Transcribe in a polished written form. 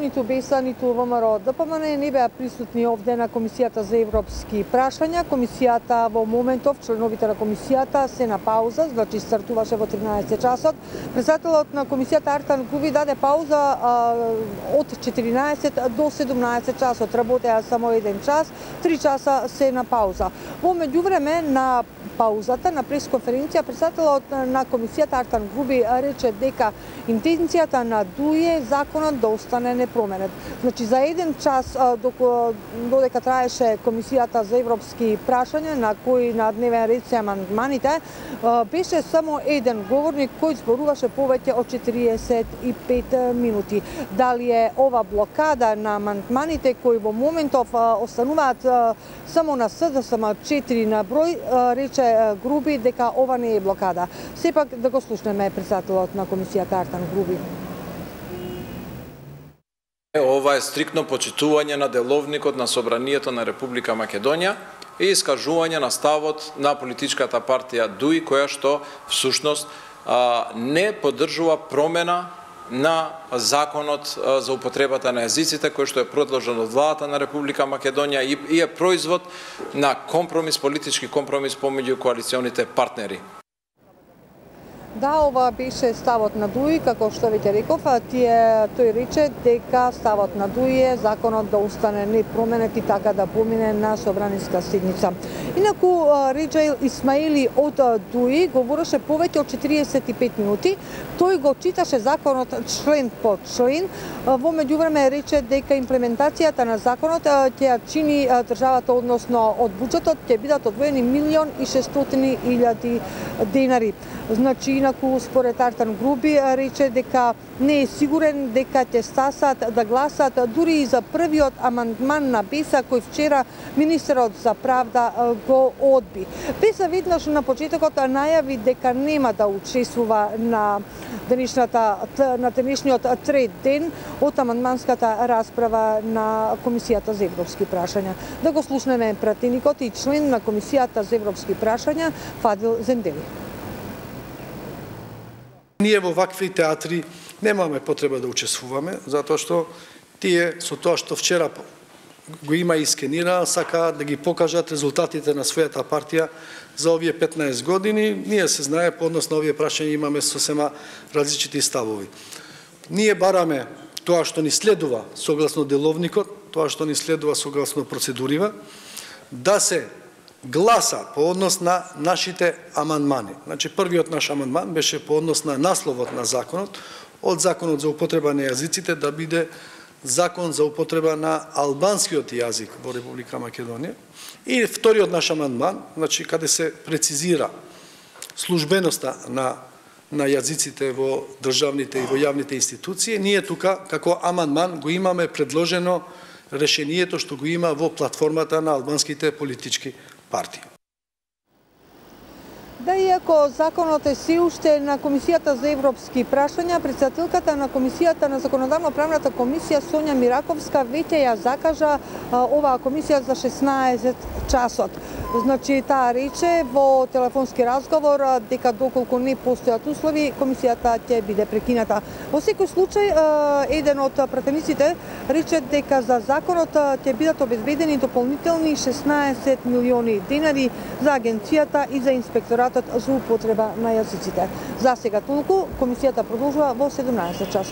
Ниту БЕСА, ниту ВМРО ДПМН не беа присутни овде на Комисијата за европски прашања. Комисијата во моментов, членовите на комисијата се на пауза, значи стартуваше во 13 часот. Председателот на комисијата Артан Груби даде пауза од 14 до 17 часот. Работеа само 1 час, 3 часа се на пауза. Во меѓувреме на паузата на пресконференција председателот на комисијата Артан Груби рече дека интенцијата на ДУИ е законот да остане непроменет. Значи за 1 час додека траеше комисијата за европски прашања на кои на дневен ред се амандманите, беше само еден говорник кој зборуваше повеќе од 45 минути. Дали е ова блокада на амандманите кои во моментов остануваат само на СДСМ 4 на број, рече Груби дека ова не е блокада. Сепак да го слушнеме председателот на комисијата Артан Груби. Ова е стриктно почитување на деловникот на Собранието на Република Македонија и искажување на ставот на политичката партија ДУИ, која што всушност не поддржува промена на законот за употребата на јазиците, кој што е предложен од владата на Република Македонија и е производ на компромис, политички компромис помеѓу коалиционите партнери. Да, ова беше ставот на ДУИ, како што веќе реков, тој рече дека ставот на ДУИ е законот да остане непроменет и така да помине на собраниска седница. Инаку Реџаил Исмаили од ДУИ говореше повеќе од 45 минути. Тој го читаше законот член по член. Во меѓувреме рече дека имплементацијата на законот ќе ја чини државата, односно од буџетот ќе бидат одвоени 1.600.000 денари. Значи, инаку според Артан Груби рече дека не е сигурен дека ќе стасат да гласат дури и за првиот амандман на БЕСА кој вчера министерот за правда го одби. БЕСА веднаш на почетокот најави дека нема да учествува на денешниот трет ден од амандманската расправа на Комисијата за европски прашања. Да го слушнеме пратеникот и член на Комисијата за европски прашања Фадил Зендели. Ние во вакви театри немаме потреба да учествуваме, затоа што тие со тоа што вчера го има и скенира, сакаат да ги покажат резултатите на својата партија за овие 15 години. Ние се знае, по однос на овие прашања имаме сосема различити ставови. Ние бараме тоа што ни следува согласно деловникот, тоа што ни следува согласно процедурива, да се гласа по однос на нашите амандмани. Значи, првиот наш амандман беше по однос на насловот на законот, од законот за употреба на јазиците да биде закон за употреба на албанскиот јазик во Република Македонија. И вториот наш амандман, значи, каде се прецизира службеноста на јазиците во државните и во јавните институции, ние тука, како амандман, го имаме предложено решението што го има во платформата на албанските политички партии. Да, иако законот е се уште на Комисијата за европски прашања, председателката на Комисијата на законодавно-правната комисија Сонја Мираковска веќе ја закажа оваа комисија за 16 часот. Значи, таа рече во телефонски разговор дека доколку не постојат услови, комисијата ќе биде прекината. Во секој случај, еден од пратениците рече дека за законот ќе бидат обезбедени дополнителни 16 милиони денари за агенцијата и за инспекторатот за употреба на јазиците. За сега толку, комисијата продолжува во 17 часот.